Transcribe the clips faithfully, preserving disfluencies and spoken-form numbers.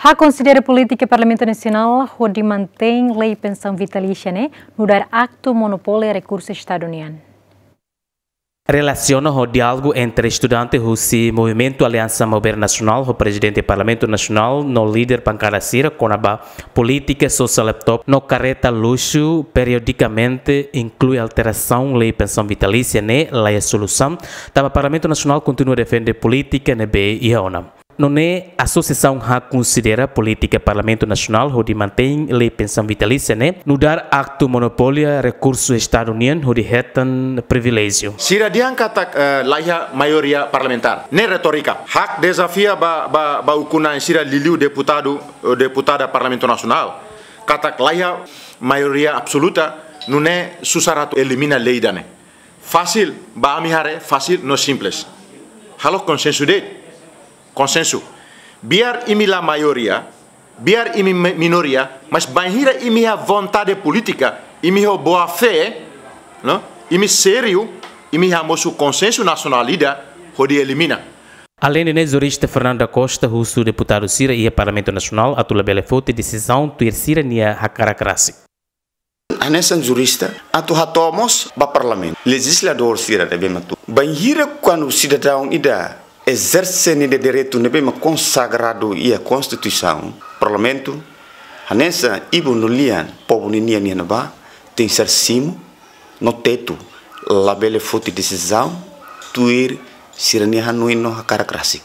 Ha'u konsidera polítika Parlamentu Nasionál hodi mantein lei pensaun vitalísia ne'e nu'udar aktu monopóliu rekursu Estadu nian. Relasiona ho diálogu entre estudante husi Movimentu Aliansa Maubere Nasionál ho Prezidente Parlamentu Nasionál no líder bankada sira kona-ba polítika sosa laptop no karreta luxu periodikamente inklui alterasaun lei pensaun vitalísia ne'e la iha solusaun, tanba Parlamentu Nasionál kontinua defende polítika ne'ebé iha ona. Nune'e, asosiasaun ha'u konsidera polítika Parlamentu Nasionál hodi mantein lei pensaun vitalísia ne'e nu'udar aktu monopóliu rekursu Estadu nian hodi hetan priviléjiu. Sira dehan katak, eh, la iha maioria parlamentár. Ne'e retórika. Ha'u dezafia ba, ba, ba ukun-na'in sira liuliu deputadu, eh, deputada Parlamentu Nasionál. Katak la iha maioria absoluta, nune'e susar atu elimina lei ida-ne'e. Fasil, ba ami haree, fasil no simples. Halo konsensu de'it. Konsensu. Biar imi la maioria, biar imi mi-, minoria, mas bainhira imi iha vontade polítika, imi ho boa fé, no? Imi sériu, imi hamosu konsensu nasionál ida, hodi elimina. Aleinde ne'e, jurista Fernando da Costa husu deputadu sira iha Parlamentu Nasionál atu labele foti desizaun tuir sira-nia hakarak rasik. Hanesan jurista, atu hato'o mós ba Parlamentu, lejizladór sira ne'ebé mak tuur. Bainhira kuandu sidadaun ida ezerse ninia direitu ne'ebé mak konsagradu iha Konstituisaun, Parlamentu, hanesan ibun no lian povu ninian iha ne'ebá, tenke ser simu no tetu, labele foti desizaun tuir sira-nia hanoin no hakarak rasik.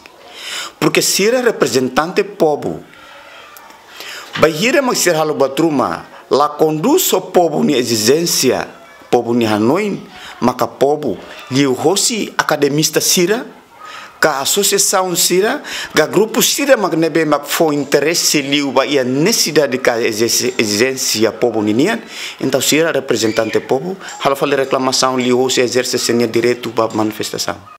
Porke sira reprezentante povu. Bainhira mak sira halo buat ruma la kondús ho povu nia ezijénsia, povu nia hanoin, maka povu liuhosi akademista sira, ka asosiasaun sira, ka grupu sira mak ne'ebé mak fó interese liu ba iha nesesidade ka ezijénsia, ezijénsia povu ninian, entaun sira reprezentante povu halo fali reklamasaun liuhosi ezerse sira-nia direitu ba manifestasaun.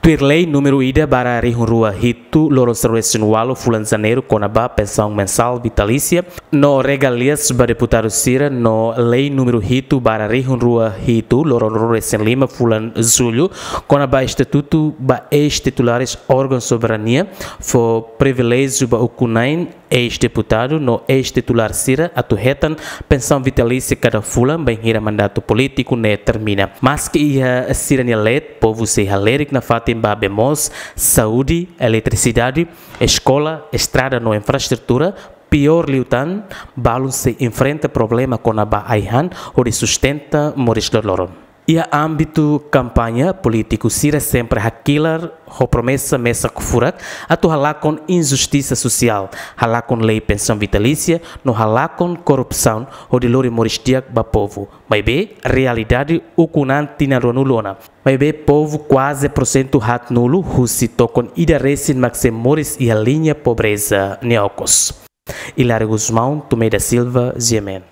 Tuir lei númeru ida barra rihun rua hitu loron sanulu-resin-ualu fulan Janeiru kona-ba pensaun mensál vitalísia no regalias ba deputadu sira no lei númeru hitu barra rihun rua hitu loron ruanulu-resin-lima fulan Jullu kona-ba estatutu ba eis-titulares órgaun soberania fó priviléjiu ba ukun-na'in eis-deputadu no eis-titulár sira atu hetan pensaun vitalísia kada fulan bainhira mandatu polítiku ne'e termina. Maski iha sira-nia leet, povu sei halerik nafatin ba bee moos, saúde, eletrisidade, eskola, estrada no infraestrutura, piór liután, balun sei enfrenta problema kona-ba ai-han hodi sustenta moris loroloron. Iha ámbitu kampaña, polítiku sira sempre hakilar ho promesa mesak furak atu halakon injustisa sosiál, halakon lei pensaun vitalísia, no halakon korrupsaun hodi lori moris di'ak ba povu. Maibé, realidade ukun-an tinan ruanulu ona. Maibé, povu kuaze porsentu haatnulu husi tokon ida resin mak sei moris iha liña pobreza nia okos. Hilário Gusmão, Tomé da Silva, G M N.